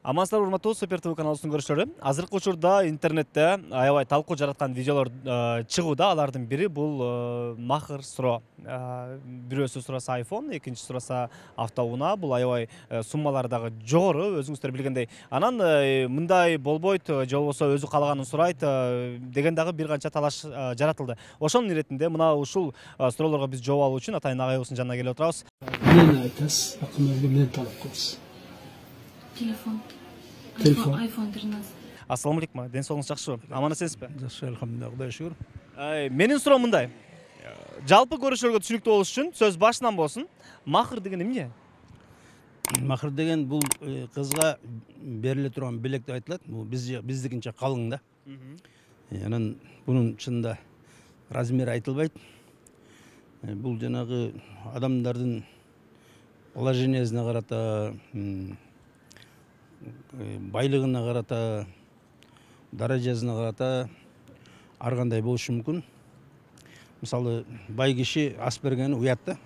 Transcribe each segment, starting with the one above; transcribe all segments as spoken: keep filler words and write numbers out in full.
Амансыздар урматтуу Супер ТВ каналыбыздын көрүүчүлөрү. Азыркы учурда интернетте аябай талкуу жараткан видеолор чыгууда. Алардын бири бул махыр суроо. Бирөөсү сураса iPhone, экинчи сураса автоунаа. Бул аябай суммалары дагы жогору, өзүңүздөр билгендей. Анан мындай болбойт, же болбосо өзү каалаганын сурайт деген дагы бир канча талаш жаратылды. Ошонун иретинде мына ушул суроолорго биз жооп алуу үчүн атайын агайыбыздын жанына келип отурабыз. Эмне айтасыз? Акымдарга эмне талап кыласыз? Телефон. Телефон. iPhone тринадцать. Ассаламу алейкум. Ден соолугуңуз жакшыбы? Аман эсенсизби? Жакшы, алхамдулилlah, Кудайга шүгүр. Менин суроом мындай. Жалпы көрүүчүлөргө түшүнүктүү болуш үчүн сөз башынан болсун. Махыр деген эмне? Махыр деген бул кызга бериле турган белек деп айтылат. Бул биз биздикинче калың да. Анан бунун чынында размери айтылбайт. Бул жанагы адамдардын положениясына карата, байлыгына карата, даражасына карата ар кандай болушу мүмкүн. Мисалы, бай киши ас бергени уят да.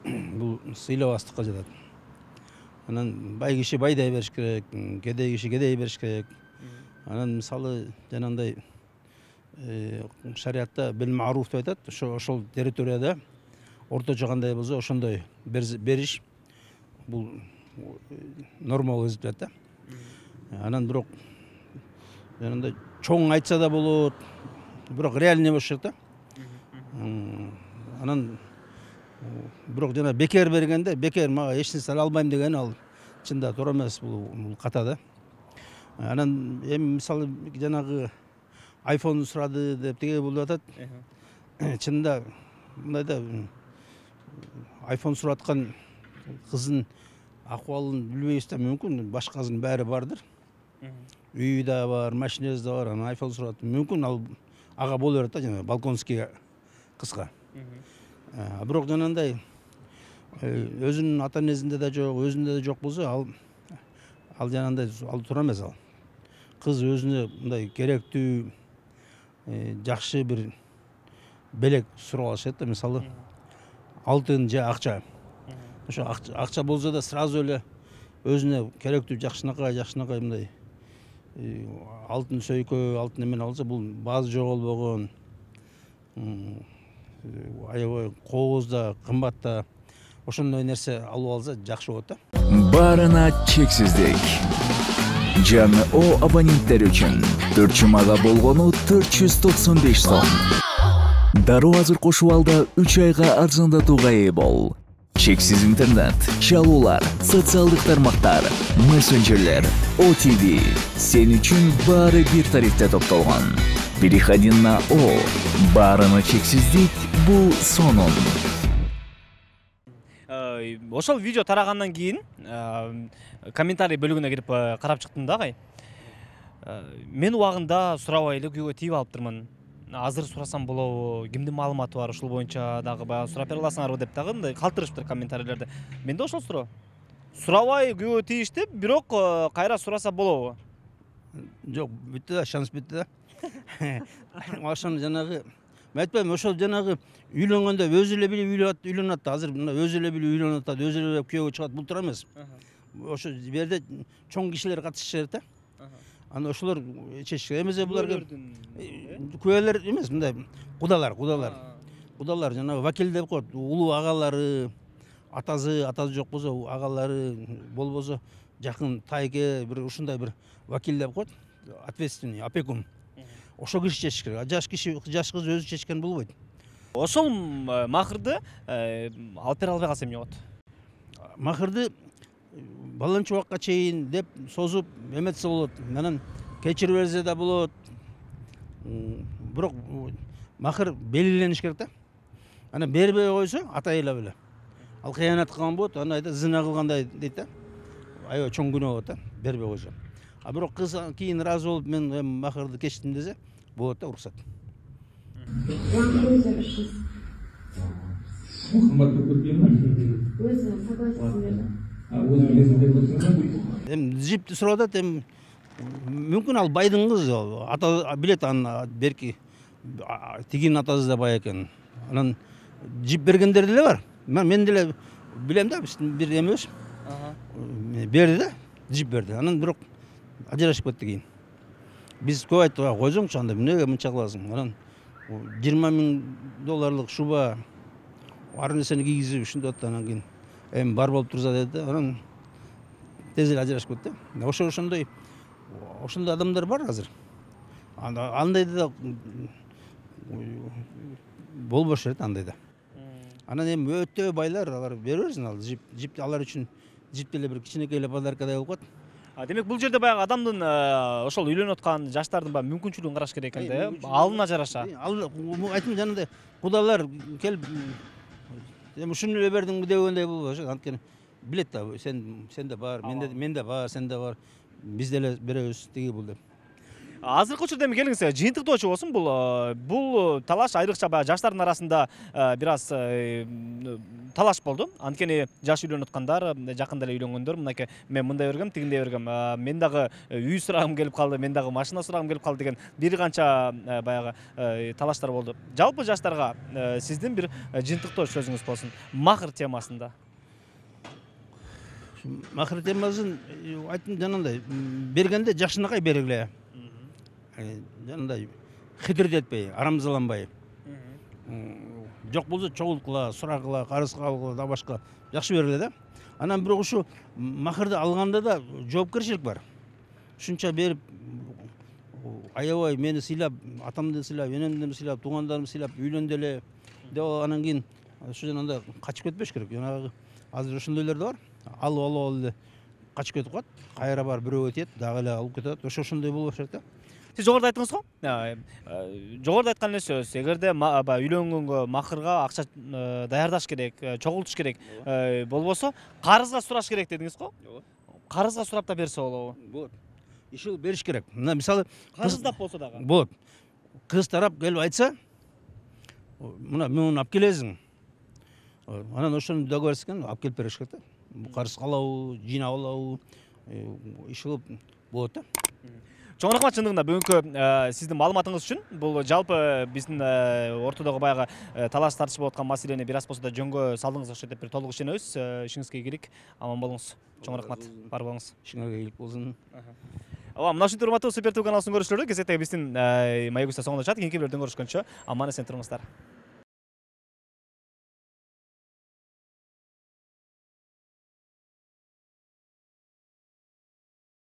Бул сыйлабастыкка жатат. Анан бай киши байдай бериш керек, кедей киши кедей бериш керек. Анан мисалы жанандай шариатта бил маруф деп айтат. Ошол территорияда орточо кандай болсо ошондой бериш бул норма болуп жатат да. Анан бирок жанагындай чоң айтса да болот, бирок реальный болуш керек да. Анан бирок жана бекер бергенде, бекер мага эч нерсе ала албайм деген ал чында туура эмес, бул ката да. Анан эми мисалы жанагы iPhone сурады деп теге болуп атат. Чында мындай да iPhone сураткан кыздын акыбалын билбейбиз да, мүмкүн башкасынын баары бардыр. Үйү да бар, машинасы да бар, анан iPhone сурат. Мүмкүн ал ага боло берет да, жана балконский кызга. Бирок жанагындай өзүнүн ата энесинде да жок, өзүндө да жок болсо, ал ал жанагындай ал туура эмес ал. Кыз өзүнө мындай керектүү, жакшы бир белек сурап алыш керек да, мисалы алтын же акча. Ошо акча болсо да сразу эле өзүнө керектүү жакшынакай, жакшынакай мындай алтын сөйкө, алтын эмен алса, бул баазы жоголбогон, аябай кооз да, кымбат да, ошондой нерсе алып алса жакшы болот да. Баарына чексиздик. Жаңы О абоненттер үчүн төрт жумага болгону төрт жүз токсон беш сом. Дароо азыр кошуп алда үч айга арзандатууга ээ бол. Чексиз интернет, чалуулар, социалдык тармактар, мессенджерлер, О Т V сен үчүн баары бир тарифте топтолгон. Переходи на О. Баарына чексиздик бул сонун. Ошол видео тарагандан кийин комментарий бөлүгүнө кирип карап чыктым да, агай. Мен убагында сурабай эле күйгө тийип алыптырмын. Азыр сурасам болобу, кимдин маалыматы бар, ушул боюнча дагы баягы сурап бере аласыңарбы деп дагы мындай калтырышыптыр комментарийлерде. Менде ошол суроо. Сурабай күйгө тийиштип, бирок кайра сураса болобу? Жок, бүттү да, шанс бүттү да. Ошону жанагы мен айтпайм, ошол жанагы үйлөнгөндө өзү эле билип үйлөнөт да. Азыр мына өзү эле билип үйлөнөт да, өзү эле күйөөгө чыгат, бул туура эмес. Ошо жерде чоң кишилер катышыш керек да. Аны ошолор чечиш керек. Эмесе буларга күбөлөр эмес, мындай кудалар, кудалар. Кудалар жанагы вакил деп коет, улуу агалары, атасы, атасы жок болсо агалары, болбосо жакын тайке бир ушундай бир вакил деп коет, ответственный, опекун. Ошо киши чечиш керек. Жаш киши, жаш кыз өзү чечкен болбойт. Ошол махырды алып бере албай калса эмне болот? Махырды баланчы убакка чейин деп созуп эметсе болот. Анан кечирип берсе да болот. Бирок махыр белгилениш керек да. Анан бербей койсо атайла беле. Ал кыянат кылган болот, аны айтат зина кылгандай дейт да. Аябай чоң күнөө болот да, бербей койсо. А бирок кыз кийин разы болуп мен эми махырды кечтим десе, болот да, уруксат. Эми жипти сурап атат, эми мүмкүн ал байдын кызы, ата билет аны берки тигинин атасы да бай экен. Анан жип бергендер деле бар. Мен деле билем да, бир эмебиз. Берди да. джип берди. Анан бирок ажырашып кетти кийин. Биз көп айттык, койсоңчу анда эмнеге мынча кыласың? Анан жыйырма миң долларлык шуба ар нерсени кийгизип ушинтип атты. Анан кийин эми бар болуп турса деди да. Анан тез эле ажырашып кетти. Ошо ошондой ошондой адамдар бар азыр. Андайды да болбош керек андай да. Анан эми өтө байлар алар бере берсин, ал жип жип алар үчүн жип деле бир кичинекей эле подаркадай болуп калат. Демек бул жерде баягы адамдын ошол үйлөнүп аткан жаштардын баягы мүмкүнчүлүгүн караш керек экен да, э? Алына жараша. Ал айтым жанагындай кудалар келип эми ушуну эле бердиңби дегендей болбош. Анткени билет да, сен сенде бар, менде менде бар, сенде бар. Биз деле беребиз тиги бул деп. Азыркы учурда эми келиңиз, жыйынтыктоочу болсун, бул бул талаш айрыкча баягы жаштардын арасында бир аз талаш болду. Анткени жаш үйлөнүп аткандар, жакында эле үйлөнгөндөр мынакей мен мындай бергем, тигиндей бергем, мен дагы үй сурагым келип калды, мен дагы машина сурагым келип калды деген бир канча баягы талаштар болду. Жалпы жаштарга сиздин бир жыйынтыктоо сөзүңүз болсун махыр темасында. Махыр темасын айтым жанагындай бергенде жакшынакай бергиле. Жанагындай хитирдетпей, арамзаланбай. Жок болсо чогулткыла, сурагыла, карыз кабылгыла да башка жакшы бергиле да. Анан бирок ушу махырды алганда да жоопкерчилик бар. Ушунча берип аябай мени сыйлап, атамды сыйлап, энемди сыйлап, туугандарымды сыйлап, үйлөндү эле деп анан кийин ушу жанагындай качып кетпеш керек. Жанагы азыр ошондойлор да бар. Алып алып алып эле качып кетип калат. Кайра бар бирөөгө тиет, дагы эле алып кетет. Ошо ошондой болбош керек да. Сиз жогоруда айттыңыз го? Жогоруда айткан эле сөз. Эгерде үйлөнгөнгө махырга акча даярдаш керек, чогултуш керек, болбосо карызга сураш керек дедиңиз го? Карызга сурап да берсе болобу? Болот. Иши бериш керек. Мына мисалы карыздап болсо дагы. Болот. Кыз тарап келип айтса, мына мен муну алып келесиң. Анан ошону договорскан алып келип бериш керек да. Карыз калабы, жыйнап алабы, иш кылып болот да. Чоң рахмат чындыгында бүгүнкү сиздин маалыматыңыз үчүн. Бул жалпы биздин ортодогу баягы талаш тартыш болуп аткан маселени бир аз болсо да жөнгө салдыңыз окшойт деп бир толук ишенебиз. Ишиңизге ийгилик, аман болуңуз. Чоң рахмат. Бар болуңуз. Ишиңерге ийгилик болсун. Ооба, мына ушинтип урматтуу Супер ТВ каналыбыздын көрүүчүлөрү, кезектеги биздин Маек соңуна чыгат. Кийинки бөлүмдөн көрүшкөнчө аман эсен туруңуздар.